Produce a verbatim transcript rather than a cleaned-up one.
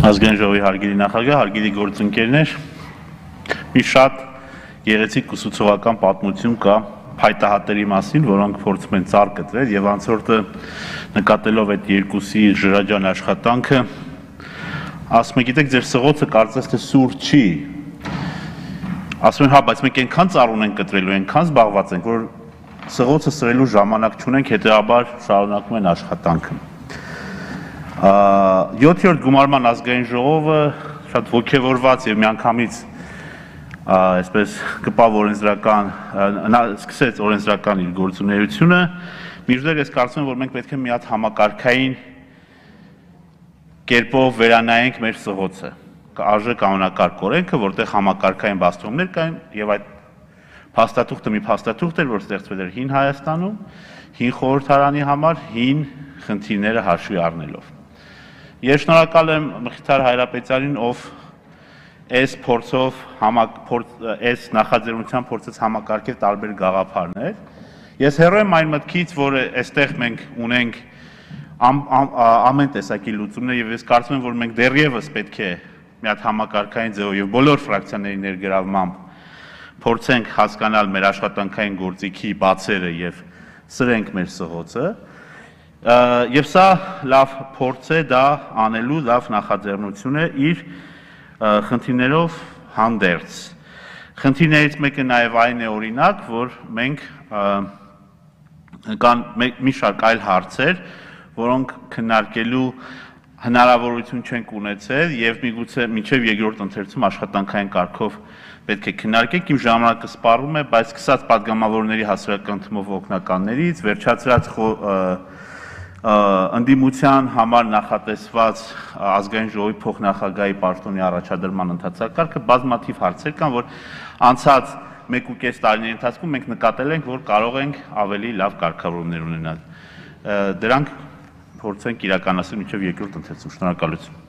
Ազգային ժողովի հարգելի նախագահ, հարգելի գործընկերներ, մի շատ գեղեցիկ ուսուցողական պատմություն կա փայտահատերի մասին, որոնք փորձում են ծառ կտրել եւ անցորդը նկատելով այդ երկուսի ժրաջան աշխատանքը ասում է, գիտեք, ձեր սղոցը կարծես թե սուր չի։ Ասում են, հա, բայց մենք այնքան ծառ ունենք կտրելու, այնքան զբաղված ենք, որ սղոցը սրելու ժամանակ չունենք, հետեւաբար շարունակում են աշխատանքը։ յոթերորդ գումարման ազգային ժողովը շատ ոգևորված եւ միանգամից այսպես կպավ օրենսդրական սկսեց օրենսդրական իր գործունեությունը, մինչդեռ ես կարծում եմ, որ մենք պետք է մի հատ համակարգային կերպով վերանայենք մեր սղոցը, արժե կանոնակարգ օրենքը, որտեղ համակարգային բացատրումներ կային եւ այդ փաստաթուղթը մի փաստաթուղթ էր, որ ստեղծվել էր հին Հայաստանում, հին խորհրդարանի համար, հին խնդիրները հաշվի առնելով։ Ես շնորհակալ եմ Մխիթար Հայրապետյանին, ով այս փորձով այս նախաձեռնության փորձեց համակարգել տարբեր գաղափարներ։ Ես հեռու եմ այն մտքից, որ այստեղ մենք ունենք ամեն տեսակի լուծումներ եւ ես կարծում եմ, որ մենք դեռևս պետք է մի հատ համակարգային ձևով եւ բոլոր ֆրակցիաների ներգրավմամբ փորձենք հասկանալ մեր աշխատանքային գործիքի բացերը եւ սրենք մեր սղոցը։ Եվ սա լավ փորձ է դա անելու, լավ նախաձեռնություն է իր խնդիրներով հանդերձ։ Խնդիրներից մեկը նաև այն է, օրինակ, որ մենք կան մի շարք այլ հարցեր, որոնք քննարկելու հնարավորություն չենք ունեցել եւ միգուցե մինչեւ երկրորդ ընթերցում աշխատանքային կարգով պետք է քննարկենք, իմ ժամանակը սպառում է, բայց սկսած падգամավորների հասարակական թվով օգնականներից, վերջացրած ընդդիմության համար նախատեսված ազգային ժողովի փոխնախագահի պաշտոնի առաջադրման ընթացակարգը բազմաթիվ հարցեր կան, որ անցած մեկ ու կես տարիների ընթացքում մենք նկատել ենք, որ կարող ենք ավելի լավ կարգավորումներ ունենալ։ Դրանք փորձենք իրականացնել մինչև երկրորդ ընթերցում։ Շնորհակալություն։